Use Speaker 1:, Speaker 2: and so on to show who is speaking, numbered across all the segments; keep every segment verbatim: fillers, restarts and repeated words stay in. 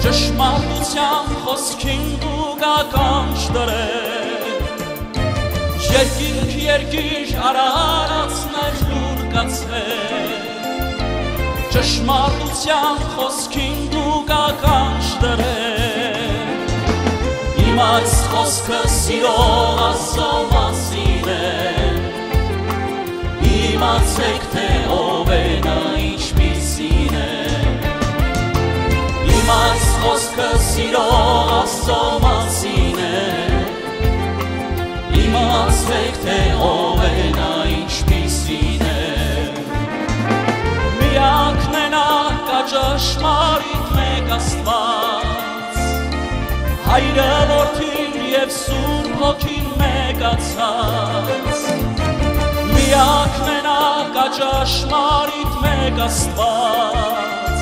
Speaker 1: ճշմարտության խոսքին դու գականջ դրել երկինք երկիր արարածներ լուր կացել ճշմարտության խոսքին դու գականջ դրել իմ այս խոսքը սիրող Աստծո մասին է իմացեք թե ով է նա ինչպիսին է իմ այս խոսքը սիրող Աստծո մասին է իմացեք թե ով է նա ինչպիսին է միակն է նա կա ճշմարիտ մեկ Աստված Հայրը Որդին և Սուրբ Հոգին մեկացած միակն է նա կա ճշմարիտ մեկ Աստված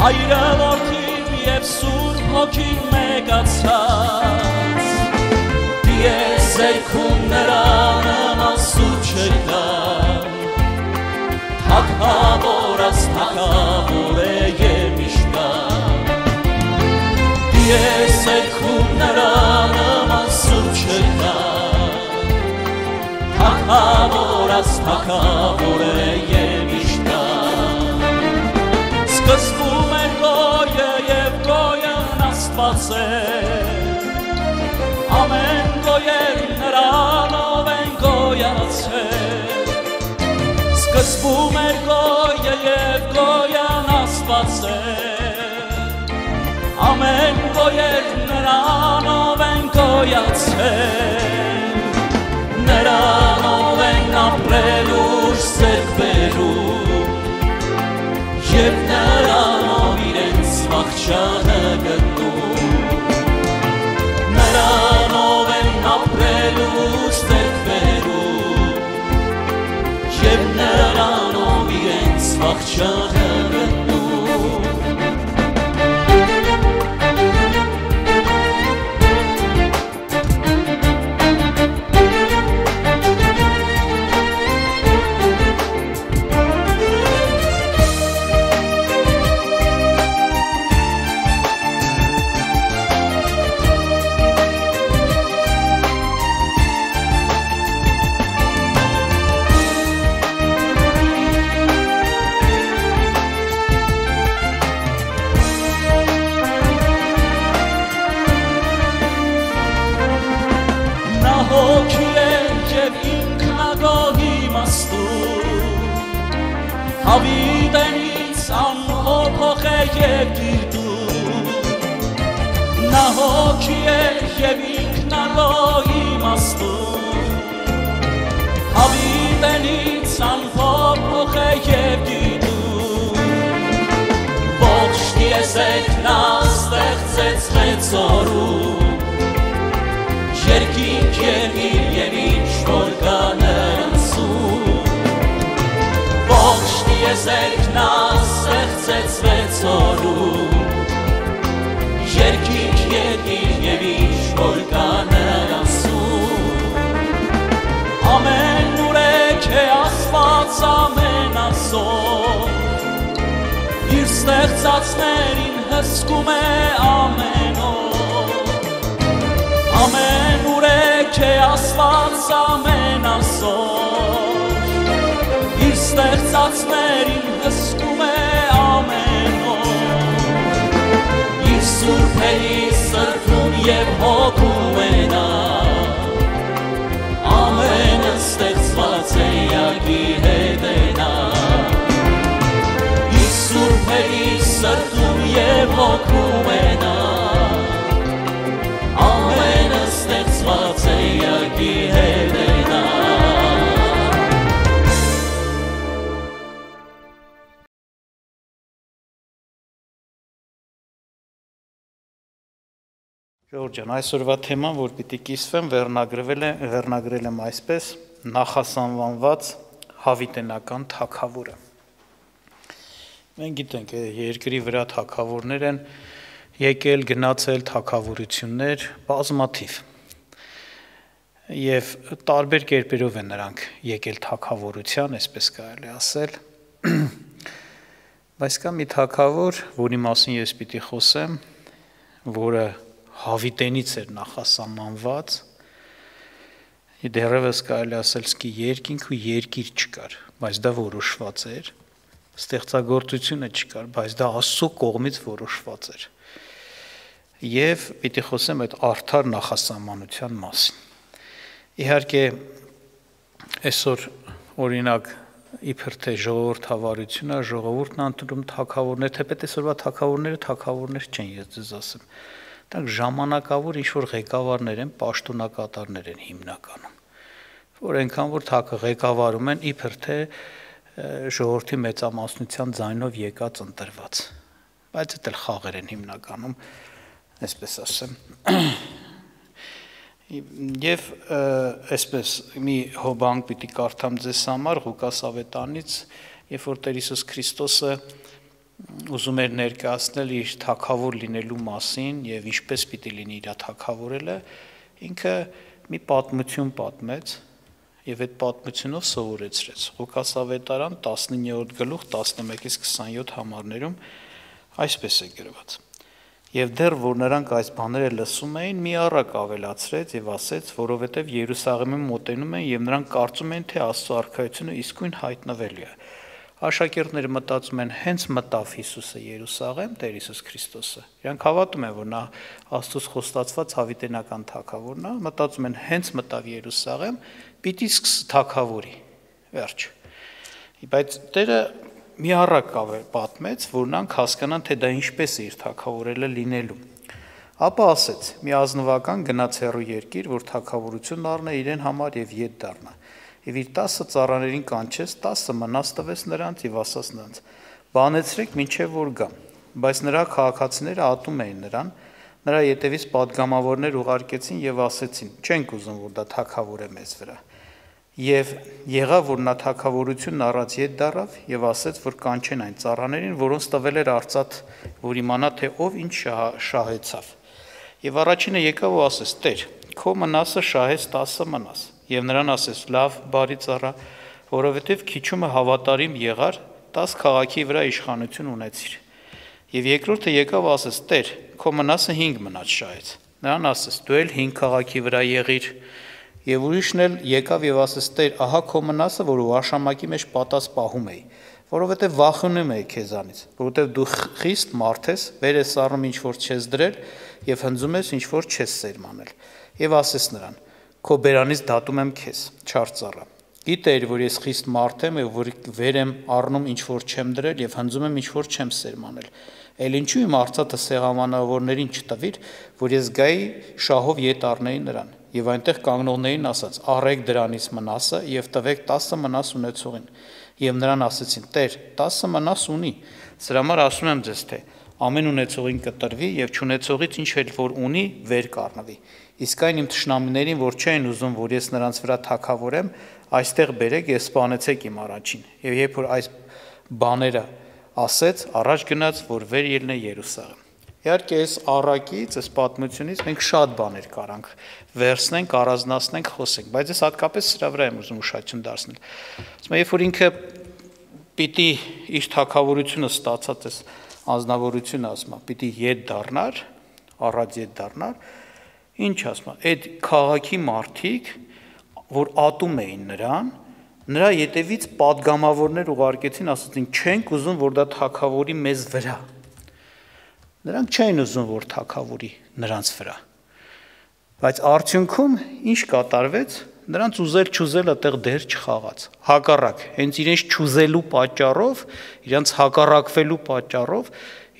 Speaker 1: Հայրը Որդին և Սուրբ Հոգին մեկացած Դիեզերքում նրա նման սուրբ չկա Թագավոր աս թագավոր է և միշտ կա Դիեզերքում նրա նման սուրբ չկա Թագավոր աս թագավոր է և միշտ կա Սկզբում էր գոյը և գոյն Աստված է Ամեն գոյեր նրանով են գոյացել Սկզբում էր գոյը և գոյն Աստված է Ամեն գոյեր նրանով են գոյացել Նրանով են ապրել ուր սերկ բերում Եվ նրանով իրենց վախճանը գտնում Նրանով են ապրել ուր սերկ բերում Եվ նրանով իրենց վախճանը գտնում Հավիտենից անհոփոխ է և գիտում Նա հոգի է և ինքնագոհ իմաստուն Հավիտենից անհոփոխ է և գիտում Ողջ տիեզերքն նա ստեղծեց մեծ օրում Երկինք երկիր և ինչ որ կա նրանցում Ողջ տիեզերքն նա ստեղծեց վեց օրում Երկինք երկիր և ինչ որ կա նրանցում Ամեն ուրեք է Աստված ամենազոր Իր ստեղծածներին հսկում է ամեն օր Ամեն ուրեք է Աստված ամենազոր Իր ստեղծածներին հսկում է ամեն օր Իր սուրբերի սրբում և հոգում է նա Ամենը ստեղծված է յակի հետ է նա Իր սուրբերի սրբում և հոգում է նա Ամենը ստեղծված է յակի հետ է նա Ժողովուրդ ջան, այսօրվա թեման, որ պիտի կիսվեմ, վերնագրվել է, վերնագրել եմ այսպես նախասանվանված հավիտենական թագավորը։ Մենք գիտենք, երկրի վրա թագավորներ են եկել, գնացել թագավորություններ բազմաթիվ։ Եվ տարբեր կերպերով են նրանք եկել թագավորության, այսպես կարելի ասել։
Speaker 2: Բայց կա մի թագավոր, որի մասին ես պիտի խոսեմ, որը հավիտենից էր նախասահմանված, դեռևս կարելի ասել սկի երկինք ու երկիր չկար, բայց դա որոշված էր, ստեղծագործությունը չկար, բայց դա Աստծո կողմից որոշված էր։ Եվ պիտի խոսեմ այդ արդար նախասահմանության մասին։ Իհարկե, այսօր օրինակ իբր թե ժողովուրդ հավարությունը, ժողովուրդն ընդունում թագավորներ, թեպետ այսօրվա թագավորները թագավորներ չեն, ես ձեզ ասեմ։ Դրանք ժամանակավոր ինչ-որ ղեկավարներ են, պաշտոնակատարներ են հիմնականում, որ այնքան որ ղեկավարում են իբր թե ժողովրդի մեծամասնության ձայնով եկած ընտրված, բայց դա էլ խաղեր են հիմնականում, այսպես ասեմ։ Եվ այսպես մի հոբանք պիտի կարդամ ձեզ համար Ղուկաս ավետարանից, երբ որ Տեր Հիսուս Քրիստոսը ուզում էր ներկայացնել իր թագավոր լինելու մասին եւ ինչպես պիտի լինի իր թագավորելը, ինքը մի պատմություն պատմեց եւ այդ պատմությունով սովորեցրեց։ Ղուկաս ավետարան տասնիններորդ գլուխ տասնմեկից քսանյոթ համարներում այսպես է գրված. Եվ դեռ որ նրանք այս բաները լսում էին, մի առակ ավելացրեց եւ ասեց, որովհետեւ Երուսաղեմին մոտենում են եւ նրանք կարծում են, թե Աստծո արքայությունը իսկույն հայտնվելու է։ Աշակերտները մտածում են, հենց մտավ Հիսուսը Երուսաղեմ, Տեր Հիսուս Քրիստոսը։ Իրանք հավատում են, որ նա Աստծոց խոստացված հավիտենական թագավորն է, մտածում են, հենց մտավ Երուսաղեմ, պիտի սկսի թագավորի։ Վերջ։ Բայց Տերը մի առակ պատմեց, որ նրանք հասկանան, թե դա ինչպես է իր թագավորելը լինելու։ Ապա ասեց. մի ազնվական գնաց հեռու երկիր, որ թագավորություն առնե իրեն համար եւ ետ դառնա։ Եվ իր տասը ծառաներին կանչեց, տասը մնաց տվեց նրանց եւ ասաց նրանց. բանեցրեք մինչեւ որ գամ։ Բայց նրա քաղաքացիները ատում էին նրան, նրա ետևից падգամավորներ ուղարկեցին եւ ասեցին. չենք ուզում, որ դա թագավոր է մեզ վրա։ Եվ եղավ, որ նա թագավորությունն առած ետ դառավ եւ ասեց, որ կանչեն այն ծառաներին, որոնց տվել էր արծաթ, որ իմանա, թե ով ինչ շահեցավ։ Եվ առաջինը եկավ ու ասեց. Տեր, քո մնասը շահեց տասը մնաս։ Եվ նրան ասեց. լավ, բարի ծառա, որովհետեւ քիչումը հավատարիմ եղար, տաս քաղաքի վրա իշխանություն ունեցիր։ Եվ երկրորդը եկավ ու ասեց. Տեր, քո մնասը հինգ մնաց շահեց։ Նրան ասեց. դու էլ հինգ քաղաքի վրա եղիր։ Եվ ուրիշն էլ եկավ եւ ասեց. Տեր, ահա քո մնասը, որ ուաշամակի մեջ պատած պահում էի, որովհետեւ վախենում էի քեզանից, որովհետեւ դու խիստ մարդ ես, վեր ես առնում ինչ որ չես դրել եւ հնձում ես ինչ որ չես սերմանել։ Եվ ասեց նրան. քո բերանից դատում եմ քեզ, չար ծառա։ Գիտեիր, որ ես խիստ մարդ եմ եւ որ վեր եմ առնում ինչ որ չեմ դրել եւ հնձում եմ ինչ որ չեմ սերմանել։ Էլ ինչու իմ արծաթը սեղամանավորներին չտվիր, որ ես գայի շահով ետ առնեի նրան։ Եվ այնտեղ կանգնողներին ասաց. առեք դրանից մնասը եւ տվեք տասը մնաս ունեցողին։ Եվ նրան ասեցին. Տեր, տասը մնաս ունի։ Սրա համար ասում եմ ձեզ, թե ամեն ունեցողին կտրվի եւ չունեցողից ինչ էլ որ ունի, վեր կառնվի։ Իսկ այն իմ թշնամիներին, որ չեն ուզում, որ ես նրանց վրա թագավորեմ, այստեղ բերեք եւ սպանեցեք իմ առաջին։ Եվ երբ որ այս բաները ասեց, առաջ գնաց, որ վեր ելնե Երուսաղեմ։ Իհարկե, այս առակից, այս պատմությունից մենք շատ բաներ կարանք վերցնենք, առանձնացնենք, խոսենք, բայց ես հատկապես սրա վրա եմ ուզում ուշադրություն դարձնել։ Ասում եմ, երբ որ ինքը պիտի իր թագավորությունը ստացած այս անձնավորությունը, ասում եմ, պիտի ետ դառնար, առած ետ դառնար, ինչ ասում եմ, այդ քաղաքի մարդիկ, որ ատում էին նրան, նրա ետևից падգամավորներ ուղարկեցին, ասացին, չենք ուզում, որ դա թագավորի մեզ վրա։ Նրանք չէին ուզում, որ թագավորի նրանց վրա։ Բայց արդյունքում ինչ կատարվեց, նրանց ուզել չուզել այդտեղ դեր չխաղաց։ Հակառակ, հենց իրենց չուզելու պատճառով, իրենց հակառակվելու պատճառով,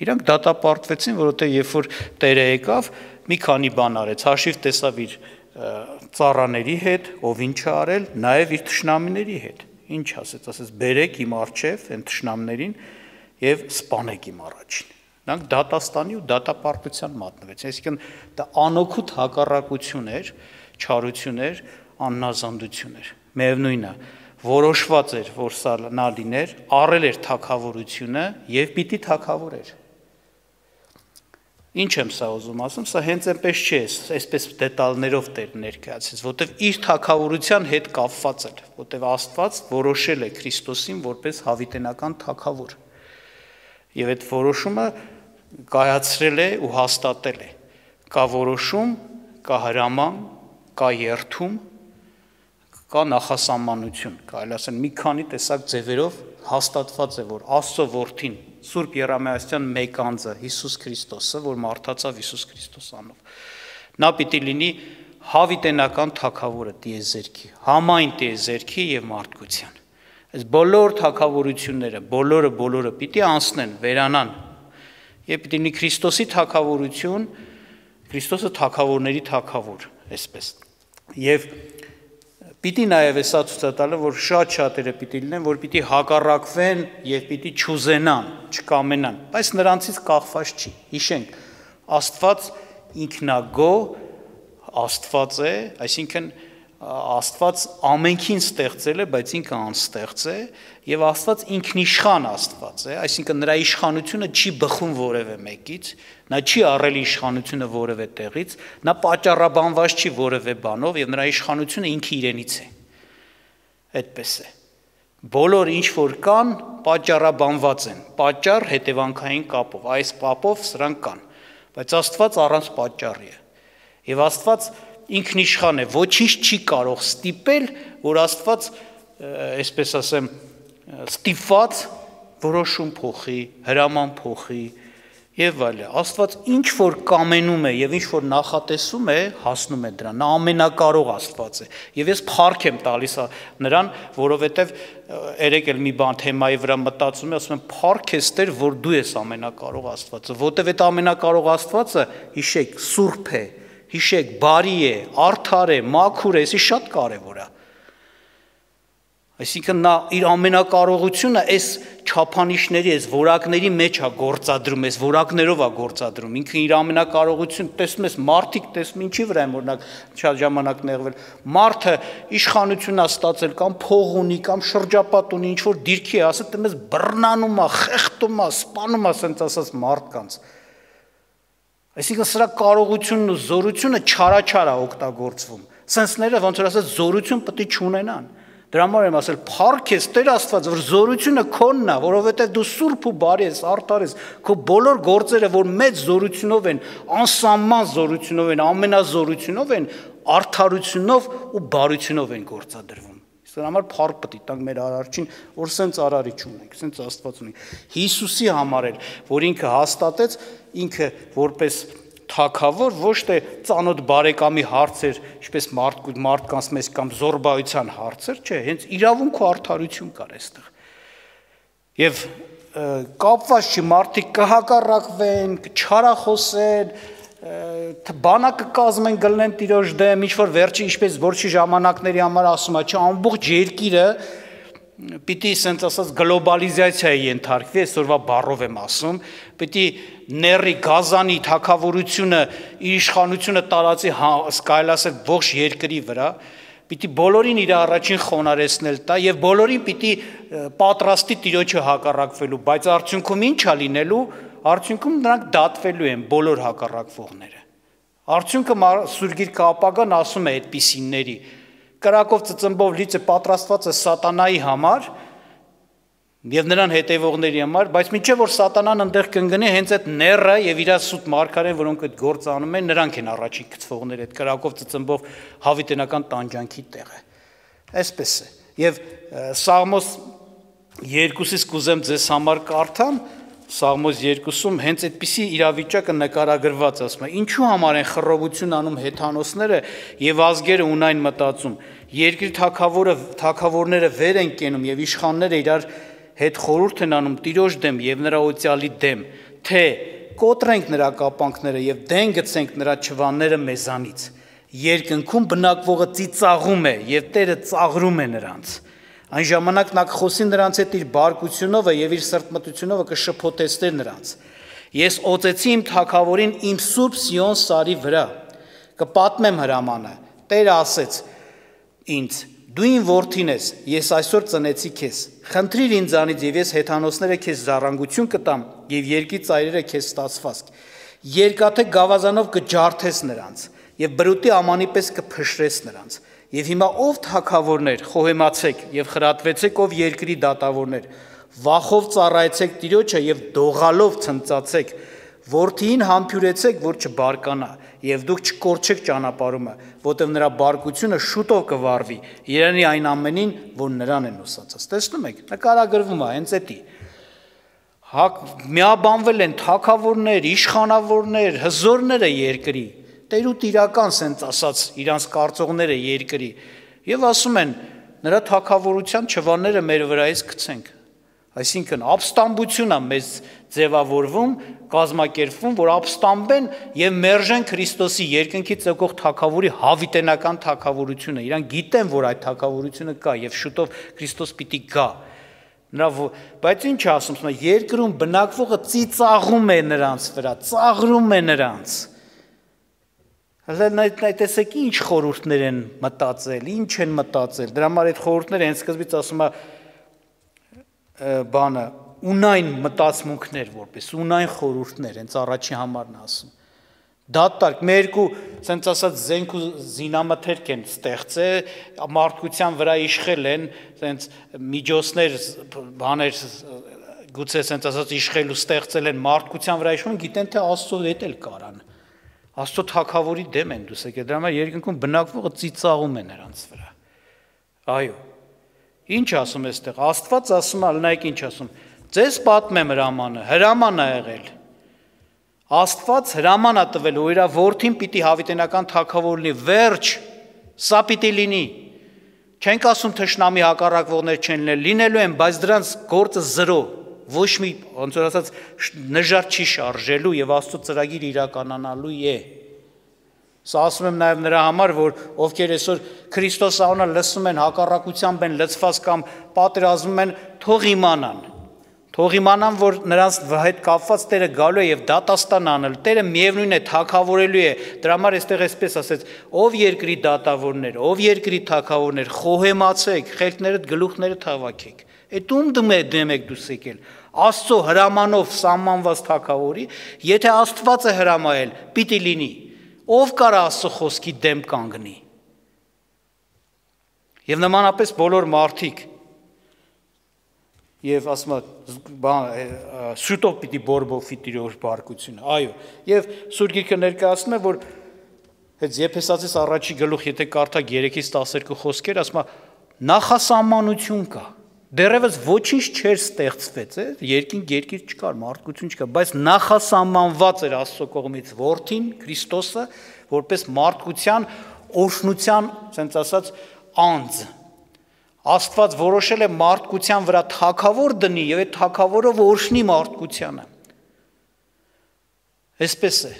Speaker 2: իրանք դատապարտվեցին, որովհետև երբ որ Տերը եկավ, մի քանի բան արեց, հաշիվ տեսավ իր ծառաների հետ, ով ինչ է արել, նաև իր թշնամիների հետ։ Ինչ ասեց, ասեց, բերեք իմ առջև այն թշնամիներին եւ սպանեք իմ առաջին։ Նրանք դատաստանի ու դատապարտության մատնվեցին, այսինքն դա անօգուտ հակառակություն էր, չարություն էր, աննազանդություն էր։ Միևնույնն է, որոշված էր, որ սա նա լիներ, առել էր թագավորությունը եւ պիտի թագավորեր։ Ինչ եմ սա ուզում ասում, սա հենց այնպես չէ, այսպես դետալներով Տեր ներկայացրեց, որտեվ իր թագավորության հետ կապված էր, որտեվ Աստված որոշել է Քրիստոսին որպես հավիտենական թագավոր։ Եվ այդ որոշումը կայացրել է ու հաստատել է։ Կա որոշում, կա հրաման, կա երթում, կա նախասահմանություն, կարելի ասել մի քանի տեսակ ձևերով հաստատված է, որ Աստծո որդին, Սուրբ Երամիասյան մեկ անձը, Հիսուս Քրիստոսը, որ մարդացավ Հիսուս Քրիստոս անով, նա պիտի լինի հավիտենական թագավորը տիեզերքի, համայն տիեզերքի եւ մարդկության։ Այս բոլոր թագավորությունները, բոլորը բոլորը պիտի անցնեն, վերանան, եւ պիտի լինի Քրիստոսի թագավորություն, Քրիստոսը թագավորների թագավոր, այսպես։ Եվ պիտի նաև էսա ցույց տալը, որ շատ շատերը պիտի լինեն, որ պիտի հակառակվեն եւ պիտի չուզենան, չկամենան, բայց նրանցից կախված չի։ Հիշենք, Աստված ինքնագոհ Աստված է, այսինքն Աստված ամենքին ստեղծել է, բայց ինքը անստեղծ է, եւ Աստված ինքնիշխան Աստված է, այսինքն նրա իշխանությունը չի բխում որևէ մեկից, նա չի առել իշխանությունը որևէ տեղից, նա պատճառաբանված չի որևէ բանով եւ նրա իշխանությունը ինքը իրենից է։ Այդպես է։ Բոլոր ինչ որ կան, պատճառաբանված են, պատճառ հետևանքային կապով, այս կապով սրանք կան, բայց Աստված առանց պատճառի է։ Եվ Աստված ինքնիշխան է, ոչինչ չի կարող ստիպել, որ Աստված, այսպես ասեմ, ստիպված որոշում փոխի, հրաման փոխի եւ այլն։ Աստված ինչ որ կամենում է եւ ինչ որ նախատեսում է, հասնում է դրան։ Նա ամենակարող Աստված է։ Եվ ես փառք եմ տալիս նրան, որովհետեւ երեք էլ մի բան թեմայի վրա մտածում եմ, ասում եմ փառք ես Տեր, որ դու ես ամենակարող Աստվածը, որովհետեւ այդ ամենակարող Աստվածը, հիշեք, սուրբ է, հիշեք, բարի է, արդար է, մաքուր է, էսի շատ կարևոր է։ Այսինքն նա իր ամենակարողությունը այս չափանիշների, այս որակների մեջ է գործադրում, այս որակներով է գործադրում։ Ինքը իր ամենակարողությունը տեսնում ես, մարդիկ տեսնում ինչի վրա են օրինակ շատ ժամանակ նեղվել։ Մարդը իշխանություն է ստացել կամ փող ունի կամ շրջապատ ունի, ինչ որ դիրքի է, ասել դեմս բռնանում է, խեղդում է, սպանում է, ասենց ասած մարդկանց։ Այսինքն սրա կարողությունն ու զորությունը չարաչար է օգտագործվում։ Սենսները ոնց որ ասած զորություն պետք է չունենան։ Դրա համար եմ ասել փառք ես Տեր Աստված, որ զորությունը քոնն է, որովհետև դու սուրբ ու բարի ես, արդար ես, քո բոլոր գործերը, որ մեծ զորությունով են, անսահման զորությունով են, ամենազորությունով են, արդարությունով ու բարությունով են գործադրվում։ Դրա համար փառք պետք է տանք մեր արարչին, որ սենց արարիչ ունենք, սենց Աստված ունենք։ Հիսուսի համար էլ, որ ինքը հաստատեց, ինքը որպես թագավոր ոչ թե ծանոթ բարեկամի հարցեր, ինչպես մարդկանց մեզ կամ զորբայության հարցեր, չէ, հենց իրավունք ու արդարություն կար այստեղ։ Եվ կապված չի մարդիկ կհակառակվեն, չարախոսեն, բանակը կազմեն գլնեն տիրոջ դեմ, ինչ որ վերջի ինչպես որչի ժամանակների համար ասում է, չէ, ամբողջ երկիրը պիտի ասենց ասած գլոբալիզացիայի ենթարկվի, այսօրվա բառով եմ ասում, պիտի ների գազանի թագավորությունը իր իշխանությունը տարածի կարելի ասել ողջ երկրի վրա, պիտի բոլորին իր առաջին խոնարհեցնել տա եւ բոլորին պիտի պատրաստի տիրոջը հակառակվելու, բայց արդյունքում ինչ է լինելու, արդյունքում նրանք դատվելու են բոլոր հակառակվողները։ Արդյունքը Սուրգիրքը ապագան ասում է այդպիսիների կրակով ծծմբով լիցը պատրաստված է սատանայի համար եւ նրան հետևողների համար, բայց մինչեւ որ սատանան այնտեղ կընկնի, հենց այդ ները եւ իր սուտ մարգարեն, որոնք այդ գործը անում են, նրանք են առաջին գծվողները, այդ կրակով ծծմբով հավիտենական տանջանքի տեղը։ Այսպես է։ Եվ Սաղմոս երկուսից կուզեմ ձեզ համար կարդամ, Սաղմոս երկուսում հենց այդպիսի իրավիճակը նկարագրված ասում է. ինչու համար են խռովություն անում հեթանոսները եւ ազգերը ունայն մտածում։ Երկրի թագավորը թագավորները վեր են կենում եւ իշխանները իրար հետ խորհուրդ են անում տիրոջ դեմ եւ նրա օծյալի դեմ, թե կոտրենք նրա կապանքները եւ դեն գցենք նրա չվանները մեզանից։ Երկնքում բնակվողը ծիծաղում է եւ Տերը ծաղրում է նրանց։ Այն ժամանակ նա կխոսի նրանց հետ իր բարկությունով եւ իր սրտմտությունով կշփոթեցներ նրանց։ Ես օծեցի իմ թագավորին իմ սուրբ Սիոն սարի վրա, կպատմեմ հրամանը։ Տերը ասեց ինձ. դու իմ որդին ես, ես այսօր ծնեցի քեզ։ Խնդրիր ինձանից եւ ես հեթանոսները քեզ զառանգություն կտամ եւ երկի ծայրերը քեզ ստացված։ Երկաթե գավազանով կջարդես նրանց եւ բրուտի ամանի պես կփշրես նրանց։ Եվ հիմա ով թագավորներ, խոհեմացեք եւ խրատվեցեք ով երկրի դատավորներ, վախով ծառայեցեք Տիրոջը եւ դողալով ցնծացեք, որդին համբյուրեցեք, որ չբարկանա, եւ դուք չկորչեք ճանապարհումը, որտեղ նրա բարկությունը շուտով կվարվի, երանի այն ամենին, որ նրան են ուսացած։ Տեսնում եք, նկարագրվում է հենց էդի։ Միաբանվել են թագավորներ, իշխանավորներ, հզորները երկրի, տերուտ իրական սենց ասած իրանց կարծողները երկրի, եւ ասում են նրա թագավորության չվանները մեր վրայից գցենք։ Այսինքն ապստամբությունն է մեզ ձևավորվում, կազմակերպվում, որ ապստամբեն եւ մերժեն Քրիստոսի երկնքից եկող թագավորի հավիտենական թագավորությունը։ Իրան գիտեն, որ այդ թագավորությունը կա եւ շուտով Քրիստոս պիտի գա։ Նրա բայց ինչ ասում, երկրում բնակվողը ծիծաղում է նրանց վրա, ծաղրում է նրանց։ Հələ տեսեք ինչ խորհուրդներ են մտածել, ինչ են մտածել։ Դրա համար այդ խորհուրդները հենց սկզբից ասում է բանը ունայն մտածմունքներ որպես ունայն խորհուրդներ, հենց առաջի համարն ասում։ Դատարկ մեր երկու ասենց ասած զենք ու զինամթերք են ստեղծել, մարդկության վրա իշխել են, ասենց միջոցներ, բաներ գուցե ասենց ասած իշխել ու ստեղծել են մարդկության վրա իշխում, գիտեն թե Աստծո հետ էլ կարան։ Աստծո թագավորի դեմ են դուս եկել, դրա համար երկնքում բնակվողը ծիծաղում է նրանց վրա։ Այո։ Ինչ ասում է այստեղ, Աստված ասում է, նայեք ինչ ասում, ձեզ պատմեմ հրամանը, հրաման է եղել։ Աստված հրաման է տվել, որ իր որդին պիտի հավիտենական թագավոր լինի, վերջ, սա պիտի լինի։ Չենք ասում թշնամի հակառակվողներ չեն լինել, լինելու են, բայց դրանց գործը զրո, ոչ մի, ոնց որ ասած, նժար չի շարժելու եւ Աստծո ծրագիր իրականանալու է։ Սա ասում եմ նաև նրա համար, որ ովքեր այսօր Քրիստոս անունը լսում են, հակառակությամբ են լցված կամ պատերազմում են, թող իմանան։ Թող իմանան, որ նրանց հետ կապված Տերը գալու է եւ դատաստան անել։ Տերը միևնույն է թագավորելու է։ Դրա համար այստեղ այսպես ասեց. ով երկրի դատավորներ, ով երկրի թագավորներ, խոհեմացեք, խելքներդ գլուխները թավաքեք։ Այդ ում դեմ եք դուս եկել։ Աստծո հրամանով սահմանված թագավորի, եթե Աստված է հրամայել, պիտի լինի։ Ով կարա Աստծո խոսքի դեմ կանգնի։ Եվ նմանապես բոլոր մարդիկ եւ ասում է շուտով պիտի բորբոքվի Տիրոջ բարկությունը։ Այո, եւ Սուրբ Գիրքը ներկայացնում է, որ այդ Եփեսացիս առաջի գլուխ, եթե կարդակ երեքից տասներկու խոսքեր, ասում է նախասահմանություն կա։ Դեռևս ոչինչ չէր ստեղծվեց, է, երկինք երկիր չկար, մարդկություն չկար, բայց նախասահմանված էր Աստծո կողմից որդին, Քրիստոսը, որպես մարդկության օրհնության, ասենց ասած, անձ։ Աստված որոշել է մարդկության վրա թագավոր դնի եւ այդ թագավորով օրհնի մարդկությանը։ Այսպես է։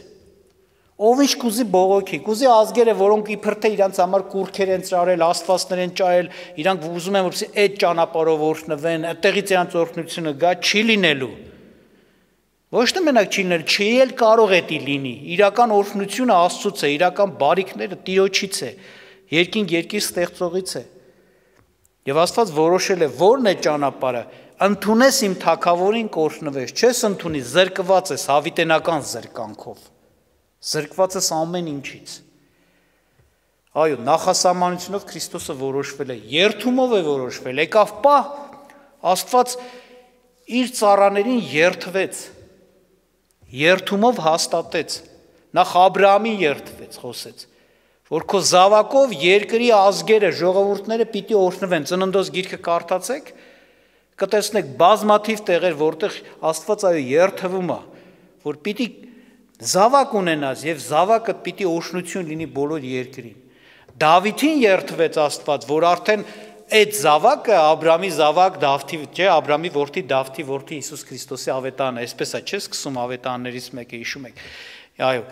Speaker 2: Ով ինչ կուզի բողոքի, կուզի ազգերը, որոնք իբր թե իրանց համար կուրքեր են ծարել, աստվածներ են ճարել, իրանք ուզում են որպեսզի այդ ճանապարհով օրհնվեն, այդտեղից իրանց օրհնությունը գա, չի լինելու։ Ոչ թե մենակ չի լինելու, չի էլ կարող է դի լինի։ Իրական օրհնությունը Աստծուց է, իրական բարիքները Տիրոջից է, երկինք երկիր ստեղծողից է։ Եվ Աստված որոշել է, որն է ճանապարհը, ընդունես իմ թագավորին կօրհնվես, չես ընդունի, զրկված ես հավիտենական զրկանքով։ Զրկված ես ամեն ինչից։ Այո, նախասահմանությունով Քրիստոսը որոշվել է, երթումով է որոշվել, եկավ պահ, Աստված իր ծառաներին երթվեց, երթումով հաստատեց, նախ Աբրահամին երթվեց, խոսեց, որ քո զավակով երկրի ազգերը, ժողովուրդները պիտի օրհնվեն, Ծննդոց գիրքը կարդացեք, կտեսնեք բազմաթիվ տեղեր, որտեղ Աստված այո երթվում է, որ պիտի զավակ ունենաս եւ զավակը պիտի օրհնություն լինի բոլոր երկրին։ Դավիթին երթվեց Աստված, որ արդեն այդ զավակը Աբրահամի զավակ Դավթի, չէ, Աբրահամի որդի Դավթի որդի Հիսուս Քրիստոսի ավետարանը, այսպես է, չէ՞, սկսում ավետարաններից մեկը հիշում եք։ Այո,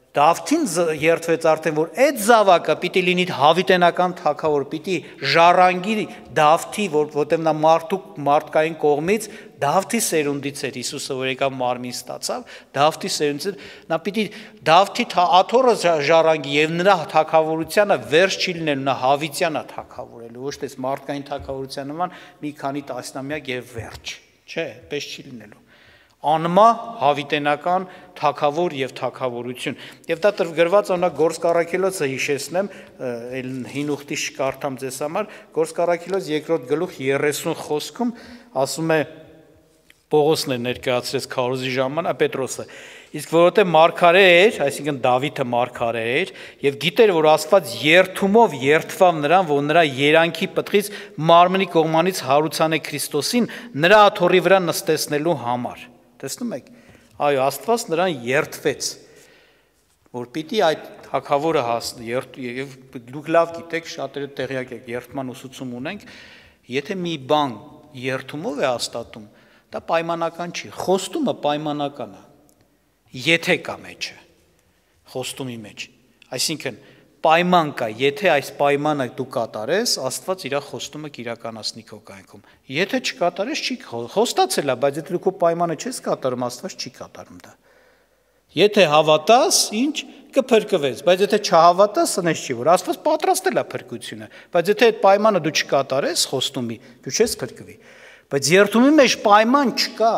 Speaker 2: Դավթին երթվեց արդեն, որ այդ զավակը պիտի լինի հավիտենական թագավոր, պիտի ժառանգի Դավթի, որտեղ նա մարդու մարդկային կողմից Դավթի սերունդից էր Հիսուսը, որ եկավ մարմին ստացավ, Դավթի սերունդից, նա պիտի Դավթի աթոռը ժառանգի եւ նրա թագավորությունը վերջ չի լինելու, նա հավիտյան է թագավորելու, ոչ թե մարդկային թագավորության նման մի քանի տասնամյակ եւ վերջ, չէ, պես չի լինելու։ Անմա հավիտենական թագավոր եւ թագավորություն։ Եվ դա գրված օրինակ Գործ Առաքելոցը հիշեցնեմ, հին ուխտի շկարդամ ձեզ համար, Գործ Առաքելոց երկրորդ գլուխ երեսուն խոսքում ասում է Պողոսն էր ներկայացրեց քարոզի ժամանակ, Պետրոսը։ Իսկ որովհետև մարգարե էր, այսինքն Դավիթը մարգարե էր, եւ գիտեր, որ Աստված երթումով երթվավ նրան, որ նրա երանքի պտղից մարմնի կողմանից հարուցան է Քրիստոսին նրա աթոռի վրա նստեցնելու համար։ Տեսնում եք, այո, Աստված նրան երթվեց, որ պիտի այդ թագավորը հասնի, եւ դուք լավ գիտեք, շատերը տեղյակ եք, երթման ուսուցում ունենք, եթե մի բան երթումով է հաստատում, դա պայմանական չի, խոստումը պայմանական է, եթե կա մեջը, խոստումի մեջ, այսինքն պայման կա, եթե այս պայմանը դու կատարես, Աստված իր խոստումը կիրականացնի քո կյանքում, եթե չկատարես, չի խոստացել է, բայց եթե դու քո պայմանը չես կատարում, Աստված չի կատարում դա, եթե հավատաս, ինչ կփրկվես, բայց եթե չհավատաս, սնես չի, որ Աստված պատրաստել է փրկությունը, բայց եթե այդ պայմանը դու չկատարես, խոստումի, դու չես փրկվի, բայց երթումի մեջ պայման չկա,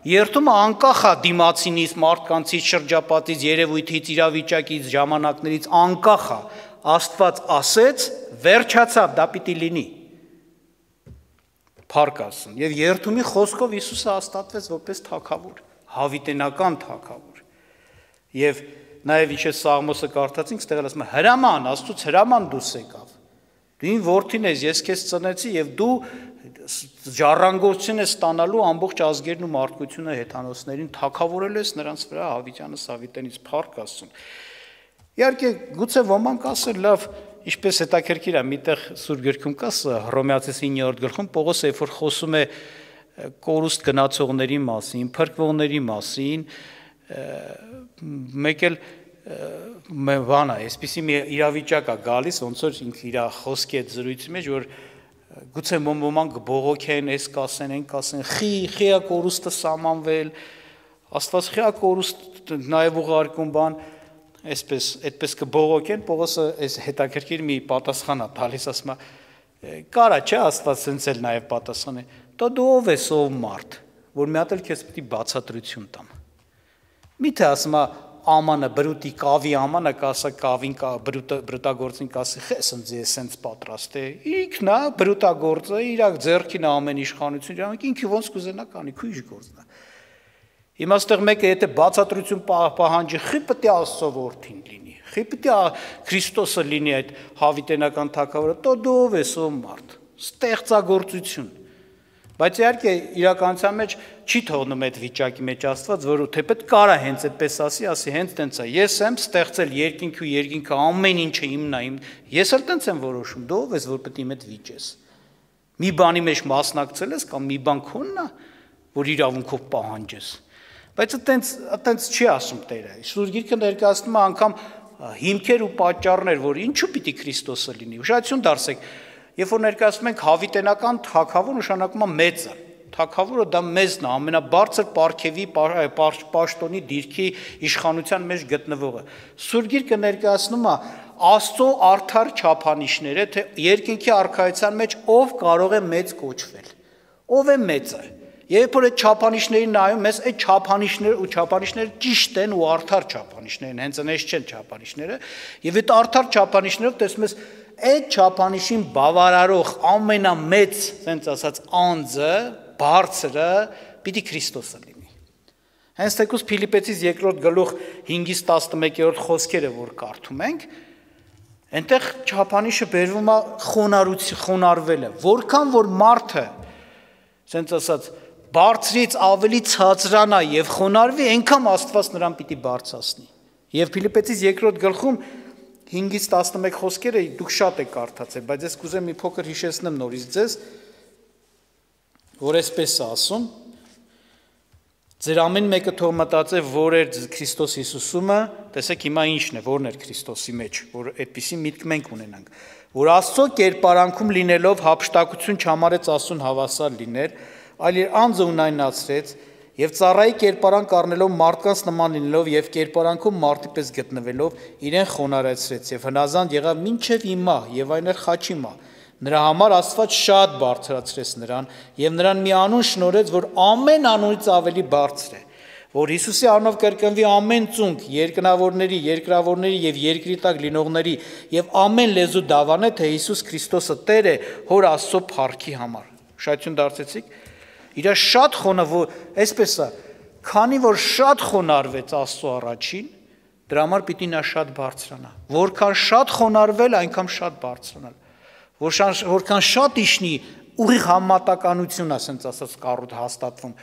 Speaker 2: երթումը անկախ է դիմացինից, մարդկանցից, շրջապատից, երևույթից, իրավիճակից, ժամանակներից, անկախ է, Աստված ասեց, վերջացավ, դա պիտի լինի, փառք Աստծուն, եւ երթումի խոսքով Հիսուսը հաստատվեց որպես թագավոր, հավիտենական թագավոր, եւ նաեւ ինչ է Սաղմոսը կարդացինք, ստեղ ասում է հրաման, Աստծուց հրաման դուրս եկավ, դու իմ որդին ես, ես քեզ ծնեցի եւ դու ժառանգություն ես ստանալու ամբողջ ազգերն ու մարդկությունը հեթանոսներին թագավորելու ես նրանց վրա հավիտյանս հավիտենից փառք Աստծուն։ Իհարկե գուցե ոմանք ասեն լավ, ինչպես հետաքրքիր է, միտեղ Սուրբ Գրքում կա Հռոմեացիս իններորդ գլխում Պողոսը երբ որ խոսում է կորուստ գնացողների մասին, փրկվողների մասին, մեկ էլ բան է, այսպիսի մի իրավիճակ է գալիս, ոնց որ ինքը իր խոսքի այդ զրույցի մեջ, որ գուցե ոմանք բողոքեն, այս կասեն, այն կասեն, խի, խիա կորուստը սամանվել, Աստված խիա կորուստ նաև ուղարկում բան, այսպես, այդպես կբողոքեն, Պողոսը այս հետաքրքիր մի պատասխան է տալիս, ասում է, կարա չէ Աստված սենց էլ նաև պատասխան է, դա դու ով ես ով մարդ, որ մի հատ էլ քեզ պիտի բացատրություն տամ։ Միթե ասում է ամանը բրուտի կավի ամանը կասա կավին բրուտագործին կասի խես ընձ ես սենց պատրաստ է ինքն է բրուտագործը իր ձեռքին ամեն իշխանություն ինքը ոնց կուզենա կանի քույժ գործնա հիմա այստեղ մեկը եթե բացատրություն պահանջի խի պիտի Աստծո որդին լինի խի պիտի Քրիստոսը լինի այդ հավիտենական թագավորը դու դու ով ես ով մարդ ստեղծագործություն Բայց իհարկե իրականության մեջ չի թողնում այդ վիճակի մեջ Աստված, որ թեպետ կարա հենց այդպես ասի, ասի հենց տենց է։ Ես եմ ստեղծել երկինքի ու երկինքը ամեն ինչը իմն է, իմ։ Ես էլ տենց եմ որոշում, դու ով ես, որ պետք է իմ հետ վիճես։ Մի բանի մեջ մասնակցել ես կամ մի բան քոնն է, որ իրավունքով պահանջես։ Բայց այտենց այտենց չի ասում Տերը։ Սուրբ Գիրքը ներկայացնում է անգամ հիմքեր ու պատճառներ, որ ինչու պիտի Քրիստոսը լինի։ Ուշադրություն դարձեք։ Երբ որ ներկայացնում ենք հավիտենական թագավոր նշանակում է մեծը, թագավորը դա մեծն է, ամենաբարձր պարգևի պաշտոնի դիրքի իշխանության մեջ գտնվողը։ Սուրբ Գիրքը ներկայացնում է Աստծո արդար չափանիշները, թե երկինքի արքայության մեջ ով կարող է մեծ կոչվել, ով է մեծը։ Երբ որ այդ չափանիշներին նայում ես, այդ չափանիշները ու չափանիշները ճիշտ են ու արդար չափանիշներ են, հենց այնպես չեն չափանիշները, եւ այդ արդար չափանիշներով տեսնում ես այդ չափանիշին բավարարող ամենամեծ, ասենց ասած, անձը, բարձրը պիտի Քրիստոսը լինի։ Հենց թեկուզ Փիլիպեցիս երկրորդ գլուխ հինգից տասնմեկերորդ խոսքերը, որ կարդում ենք, այնտեղ չափանիշը բերվում է խոնարհություն, խոնարհվելը, որքան որ մարդը, ասենց ասած, բարձրից ավելի ցածրանա եւ խոնարհվի, այնքան Աստված նրան պիտի բարձրացնի։ Եվ Փիլիպեցիս երկրորդ գլխում հինգից տասնմեկ խոսքերը դուք շատ եք կարդացել, բայց ես կուզեմ մի փոքր հիշեցնեմ նորից ձեզ, որ այսպես է ասում. Ձեր ամեն մեկը թող մտածե, որ էր Քրիստոս Հիսուսումը, տեսեք հիմա ինչն է, որն էր Քրիստոսի մեջ, որ այդպիսի միտք մենք ունենանք, որ Աստծո կերպարանքում լինելով հափշտակություն չհամարեց Աստծուն հավասար լինել, այլ իր անձը ունայնացրեց եւ ծառայի կերպարանք առնելով մարդկանց նման լինելով եւ կերպարանքում մարդի պես գտնվելով իրեն խոնարհեցրեց եւ հնազանդ եղավ մինչեւ հիմա եւ այն էր խաչի մա նրա համար Աստված շատ բարձրացրեց նրան եւ նրան մի անուն շնորհեց որ ամեն անունից ավելի բարձր է որ Հիսուսի անունով կրկնվի ամեն ծունկ երկնավորների երկրավորների եւ երկրի տակ լինողների եւ ամեն լեզու դավանե թե Հիսուս Քրիստոսը Տեր է հոր Աստծո փառքի համար շնորհություն դարձեցիք Իրա շատ խոնավ, այսպես է, քանի որ շատ խոնարհվեց Աստծո առաջին, դրա համար պիտի նա շատ բարձրանա։ Որքան շատ խոնարհվել, այնքան շատ բարձրանալ։ Որքան շատ իշնի ուղիղ համատականություն, ասենց ասած կառույց հաստատվում,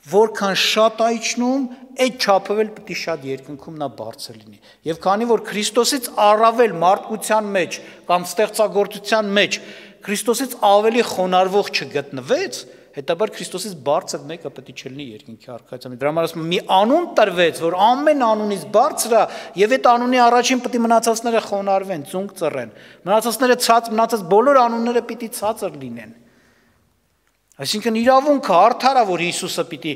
Speaker 2: որքան շատ այչնում, այդ չափով էլ պիտի շատ երկնքում նա բարձր լինի։ Եվ քանի որ Քրիստոսից առավել մարդկության մեջ կամ ստեղծագործության մեջ Քրիստոսից ավելի խոնարհվող չգտնվեց, հետաբար Քրիստոսից բարձր մեկը պետք է չլինի երկնքի արքայության։ Դրա համար ասում եմ, մի անուն տրվեց, որ ամեն անունից բարձր է, եւ այդ անունի առաջին պետք է մնացածները խոնարհվեն, ծունկ ծռեն։ Մնացածները ցած, մնացած բոլոր անունները պիտի ցածր լինեն։ Այսինքն իրավունքը արդար է, որ Հիսուսը պիտի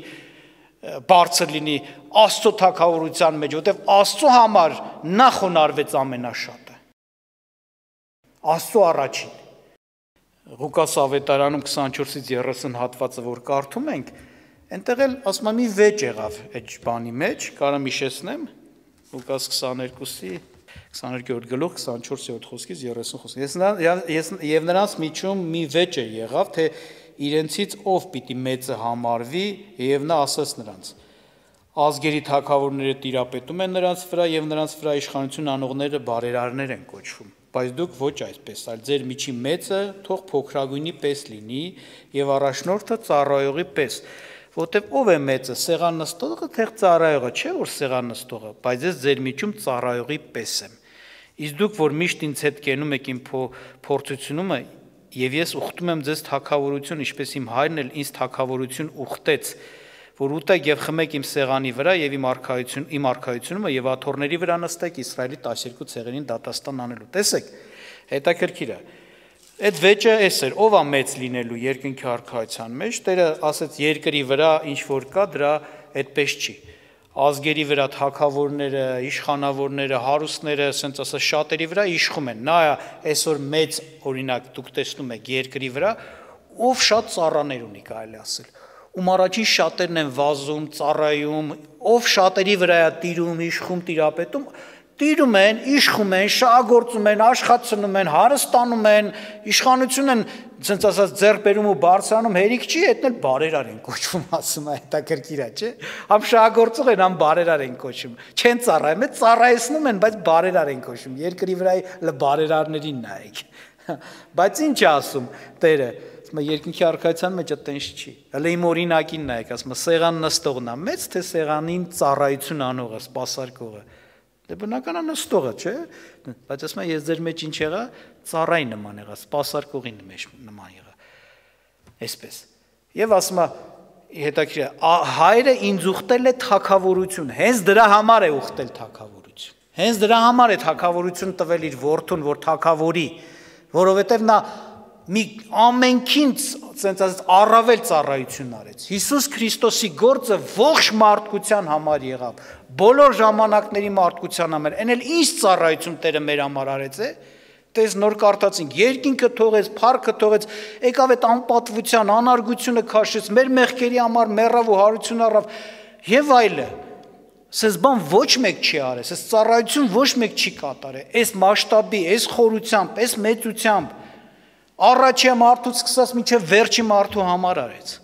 Speaker 2: բարձր լինի Աստծո թագավորության մեջ, որտեղ Աստծո համար նա խոնարհվեց ամենաշատը։ Աստծո առաջին։ Ղուկաս ավետարանում քսանչորսից երեսուն հատվածը, որ կարդում ենք, այնտեղ էլ ասում եմ մի վեճ եղավ այդ բանի մեջ, կարամ հիշեցնեմ, Ղուկաս քսաներկուսի քսաներկերորդ գլուխ քսանչորս խոսքից երեսուն խոսք։ Ես եւ նրանց միջում մի վեճ է եղավ, թե իրենցից ով պիտի մեծը համարվի, եւ նա ասաց նրանց. ազգերի թագավորները տիրապետում են նրանց վրա եւ նրանց վրա իշխանություն անողները բարերարներ են կոչվում, բայց դուք ոչ այսպես, այլ ձեր միջի մեծը թող փոքրագույնի պես լինի եւ առաջնորդը ծառայողի պես, որտեւ ով է մեծը, սեղան նստողը թե ծառայողը, չէ որ սեղան նստողը, բայց ես ձեր միջում ծառայողի պես եմ։ Իսկ դուք որ միշտ ինձ հետ կենում եք իմ փորձությունումը, եւ ես ուխտում եմ ձեզ թագավորություն, ինչպես իմ հայրն էլ ինձ թագավորություն ուխտեց, որ ուտեք եւ խմեք իմ սեղանի վրա եւ իմ արքայություն, իմ արքայությունը եւ աթոռների վրա նստեք Իսրայելի տասներկու ցեղերին դատաստան անելու։ Տեսեք, հետաքրքիր է։ Այդ վեճը էս էր, ով է մեծ լինելու երկնքի արքայության մեջ, Տերը ասեց երկրի վրա ինչ որ կա, դրա այդպես չի։ Ազգերի վրա թագավորները, իշխանավորները, հարուստները, ասենց ասած շատերի վրա իշխում են։ Նա այսօր մեծ օրինակ դուք տեսնում եք երկրի վրա, ով շատ ծառաներ ունի, կարելի ասել։ Ում առաջին շատերն են վազում, ծառայում, ով շատերի վրա է տիրում, իշխում, տիրապետում, տիրում են, իշխում են, շահագործում են, աշխատում են, հարստանում են, իշխանություն են, ցենց ասած ձեռբերում ու բարձրանում, հերիք չի, այդն էլ բարերար են կոչվում, ասում է, հետաքրքիր է, չէ՞։ Համ շահագործող են, համ բարերար են կոչվում։ Չեն ծառայում, այդ ծառայեցնում են, բայց բարերար են կոչվում։ Երկրի վրա բարերարներին նայեք։ Բայց ինչ է ասում Տերը, ասում է երկնքի արքայության մեջ այդտենց չի։ Հələ իմ օրինակին նայեք, ասում է սեղան նստողն է մեծ, թե սեղանին ծառայություն անողը, սպասարկողը։ Դե բնական է նստողը, չէ՞։ Բայց ասում է ես ձեր մեջ ինչ եղա, ծառայի նման եղա, սպասարկողի նման եղա։ Այսպես։ Եվ ասում է հետաքրքիր է, հայրը ինձ ուխտել է թագավորություն, հենց դրա համար է ուխտել թագավորություն։ Հենց դրա համար է թագավորություն տվել իր որդուն, որ թագավորի, որովհետև նա մի ամենքին ցենց ասած առավել ծառայություն արեց։ Հիսուս Քրիստոսի գործը ողջ մարդկության համար եղավ, բոլոր ժամանակների մարդկության համար։ Էն էլ ինչ ծառայություն Տերը մեր համար արեց է։ Տես նոր կարդացինք, երկինքը թողեց, փառքը թողեց, եկավ այդ անպատվության, անարգությունը քաշեց, մեր մեղքերի համար մեռավ ու հարություն առավ եւ այլը։ Սենց բան ոչ մեկ չի արել, սենց ծառայություն ոչ մեկ չի կատարել, այս մասշտաբի, այս խորությամբ, այս մեծությամբ, առաջի մարդուց սկսած մինչև վերջի մարդու համար արեց։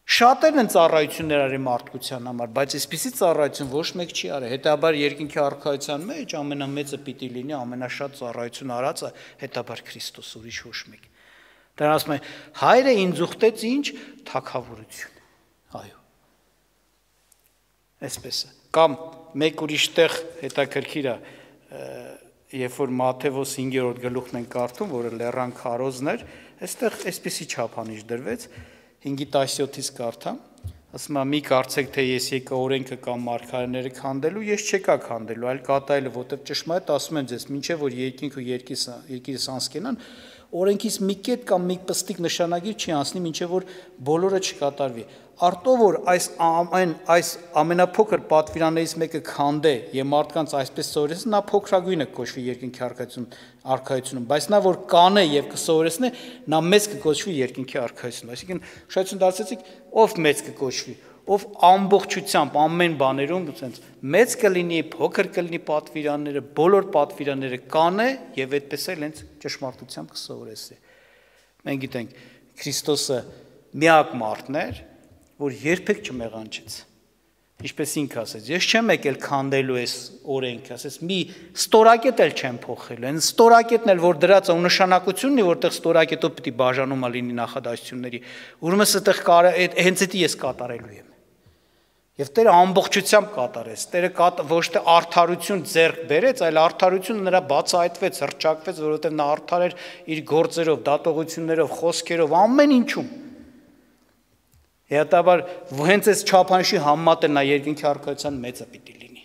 Speaker 2: Շատերն են ծառայություններ արել մարդկության համար, բայց այսպիսի ծառայություն ոչ մեկ չի արել, հետաբար երկինքի արքայության մեջ ամենամեծը պիտի լինի, ամենաշատ ծառայություն արածը, հետաբար Քրիստոս, ուրիշ ոչ մեկ։ Դրան ասում է, հայրը ինձ ուխտեց ինչ, թագավորություն, այո։ Այսպես է, կամ մեկ ուրիշ տեղ հետաքրքիր է, երբ որ Մատթեոս հինգերորդ գլուխն ենք կարդում, որը լեռան քարոզն էր, այստեղ այսպիսի չափանիշ դրվեց, հինգի տասնյոթից կարդամ, ասում է մի կարծեք, թե ես եկա օրենքը կամ մարգարեները քանդելու, ես չեկա քանդելու, այլ կատարելու, որտեղ ճշմարիտ ասում եմ ձեզ, մինչև որ երկինք ու երկիրս անցկենան, օրենքից մի կետ կամ մի պստիկ նշանագիր չի անցնի, մինչև որ բոլորը չկատարվի։ Արտով որ այս ամեն այս ամենափոքր պատվիրաններից մեկը քանդե եւ մարդկանց այսպես սովորեցնի, նա փոքրագույնը կոչվի երկինքի արքայություն, արքայությունում, բայց նա որ կանե եւ կսովորեցնի, նա մեծ կկոչվի երկինքի արքայությունում։ Այսինքն շայցուն դարձեցիք, ով մեծ կկոչվի, ով ամբողջությամբ ամեն բաներում ցենց մեծ կլինի, փոքր կլինի պատվիրանները, բոլոր պատվիրանները կանե եւ այդպես էլ հենց ճշմարտությամբ կսովորեցնի։ Մենք գիտենք Քրիստոսը միակ մարդն էր, որ երբեք չմեղանչեց։ Ինչպես ինքը ասեց, ես չեմ եկել քանդելու այս օրենքը, ասեց մի ստորակետ էլ չեմ փոխելու, այն ստորակետն էլ որ դրած է ու նշանակությունն է, որտեղ ստորակետով պիտի բաժանումա լինի նախադասությունների, ուրեմն այդտեղ հենց դա ես կատարելու եմ։ Եվ Տերը ամբողջությամբ կատարեց, Տերը ոչ թե արդարություն ձեռք բերեց, այլ արդարությունը նրա բացահայտվեց, հռչակվեց, որովհետև նա արդար էր իր գործերով, դատողություններով, խոսքերով, ամեն ինչում։ Հետաբար հենց այս չափանշի համեմատը նա երկնքի արքայության մեծը պիտի լինի։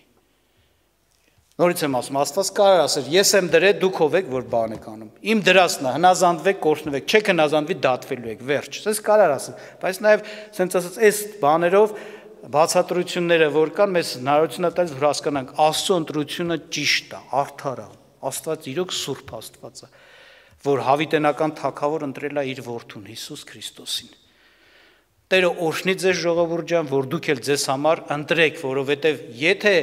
Speaker 2: Նորից եմ ասում, Աստված կարող ասել, ես եմ դրել, դուք ով եք, որ բան եք անում։ Իմ դրածն է, հնազանդվեք, կորցնվեք, չեք հնազանդվի, դատվելու եք, վերջ։ Սենց կարող ասել, բայց նաև սենց ասած, այս բաներով բացատրությունները, որ կան, մեզ հնարավորություն է տալիս, որ հասկանանք, Աստծո ընտրությունը ճիշտ է, արդար է, Աստված իրոք սուրբ Աստված է, որ հավիտենական թագավոր ընտրել է իր որդուն Հիսուս Քրիստոսին։ Տերը օրհնի ձեզ ժողովուրդ ջան, որ դուք էլ ձեզ համար ընտրեք, որովհետև եթե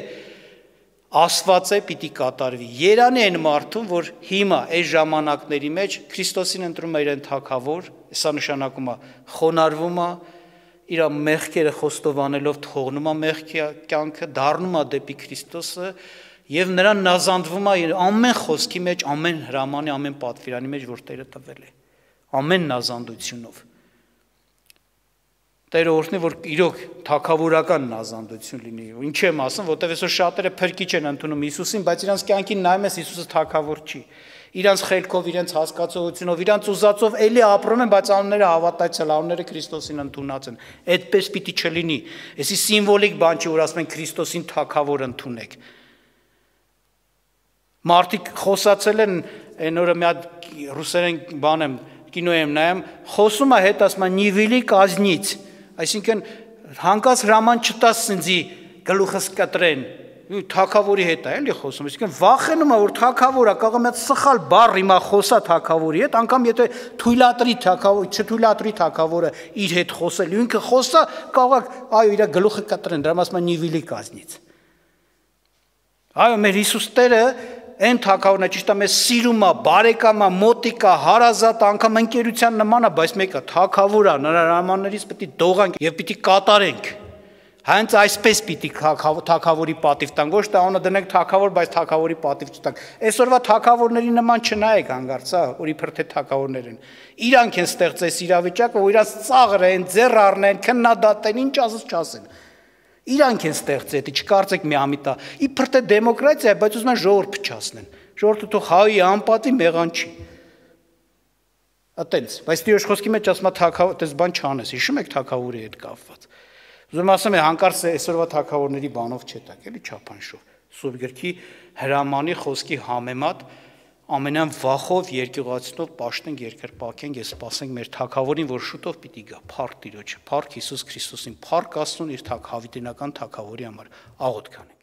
Speaker 2: ասված է, պիտի կատարվի։ Երանի այն մարդուն, որ հիմա այս ժամանակների մեջ Քրիստոսին ընտրում է իրեն թագավոր, սա նշանակում է խոնարհվում է, իր մեղքերը խոստովանելով թողնում է մեղքի կյանքը, դառնում է դեպի Քրիստոսը եւ նրան նազանդվում է ամեն խոսքի մեջ, ամեն հրամանի, ամեն պատվիրանի մեջ, որ Տերը տվել է, ամեն նազանդությունով։ Տերը օրհնի, որ իրոք թագավորական նազանդություն լինի։ Ինչ եմ ասում, որտեղ այսօր շատերը փրկիչ են ընդունում Հիսուսին, բայց իրանց կյանքին նայում ես Հիսուսը թագավոր չի։ Իրանց խելքով, իրենց հասկացողությունով, իրանց ուզածով էլի ապրում են, բայց անունները հավատացյալ, անունները Քրիստոսին ընդունած են։ Այդպես պիտի չլինի։ Էսի սիմվոլիկ բան չի, որ ասում են Քրիստոսին թագավոր ընդունեք։ Մարդիկ խոսացել են, այն օրը մի հատ ռուսերեն բան եմ, կինո եմ նայում, խոսում է հետ ասում է նիվիլի կազնից, այսինքն հանկած հրաման չտաս ինձի գլուխս կտրեն, թագավորի հետ է էլի խոսում, այսինքն վախենում է, որ թագավորը կարող է մի հատ սխալ բառ հիմա խոսա թագավորի հետ, անգամ եթե թույլատրի թագավոր, չթույլատրի թագավորը իր հետ խոսել, ինքը խոսա, կարող է այո իր գլուխը կտրեն, դրա մասը նիվիլի կազնից։ Այո, մեր Հիսուս Տերը այն թագավորն է, ճիշտ է, մեզ սիրում է, բարեկամ է, մոտիկ է, հարազատ, անգամ ընկերության նման է, բայց մեկը թագավոր է, նրա հրամաններից պետք է դողանք եւ պիտի կատարենք։ Հենց այսպես պիտի թագավորի պատիվ տանք, ոչ թե անունը դնենք թագավոր, բայց թագավորի պատիվ չտանք։ Այսօրվա թագավորների նման չնայեք հանգարց, հա, որ իբր թե թագավորներ են։ Իրանք են ստեղծես իրավիճակը, որ իրանց ծաղր են, ձեռ առնեն, քննադատեն, ինչ ասած չասեն։ Իրանք են ստեղծել, դա չկարծեք մի ամիտա։ Իբր թե դեմոկրատիա է, բայց ուզում են ժողովուրդ փչացնեն։ Ժողովուրդը թող հավի անպատի մեղանչի։ Ատենց, բայց Տիրոջ խոսքի մեջ ասում է թագավոր, դες բան չանես, հիշում եք թագավորի հետ կապված։ Ուզում ասեմ, հանկարծ այսօրվա թագավորների բանով չետակ, էլի չափանշով։ Սուրբ գրքի հրամանի խոսքի համեմատ ամենան վախով երկյուղացնող պաշտենք երկրպագենք, ես սպասենք մեր թագավորին, որ շուտով պիտի գա, փառք Տիրոջը, փառք Հիսուս Քրիստոսին, փառք Աստծուն իր թագ հավիտենական թագավորի համար, աղոթք անենք։